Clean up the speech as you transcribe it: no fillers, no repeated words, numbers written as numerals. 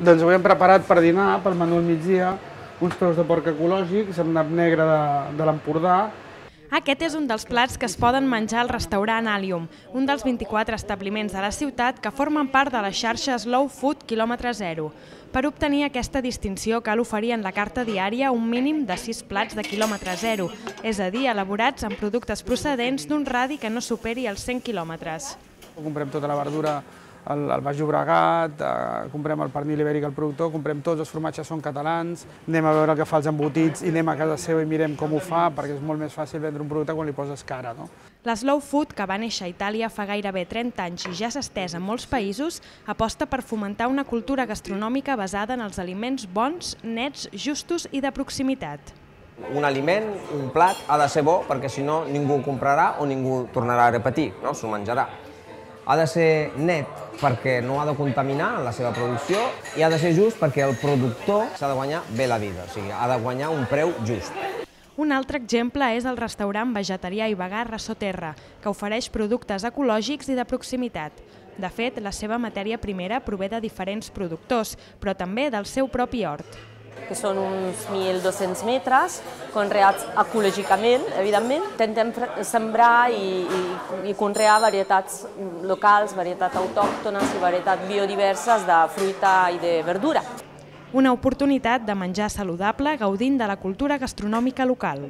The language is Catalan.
Doncs avui hem preparat per dinar, pel menú al migdia, uns peus de porc ecològics amb nap negre de l'Empordà. Aquest és un dels plats que es poden menjar al restaurant Alium, un dels 24 establiments de la ciutat que formen part de la xarxa Slow Food Kilòmetre Zero. Per obtenir aquesta distinció cal oferir en la carta diària un mínim de 6 plats de quilòmetre zero, és a dir, elaborats amb productes procedents d'un radi que no superi els 100 quilòmetres. Comprem tota la verdura al Baix Llobregat, comprem el pernil ibèric al productor, comprem tots els formatges són catalans, anem a veure el que fa els embotits i anem a casa seva i mirem com ho fa, perquè és molt més fàcil vendre un producte quan li poses cara. La Slow Food, que va néixer a Itàlia fa gairebé 30 anys i ja s'ha estès en molts països, aposta per fomentar una cultura gastronòmica basada en els aliments bons, nets, justos i de proximitat. Un aliment, un plat, ha de ser bo perquè si no ningú ho comprarà o ningú tornarà a repetir, s'ho menjarà. Ha de ser net perquè no ha de contaminar en la seva producció i ha de ser just perquè el productor s'ha de guanyar bé la vida, o sigui, ha de guanyar un preu just. Un altre exemple és el restaurant vegetarià i vegà Rasoterra, que ofereix productes ecològics i de proximitat. De fet, la seva matèria primera prové de diferents productors, però també del seu propi hort. Que són uns 1.200 metres, conreats ecològicament, evidentment. Intentem sembrar i conrear varietats locals, varietats autòctones i varietats biodiverses de fruita i de verdura. Una oportunitat de menjar saludable gaudint de la cultura gastronòmica local.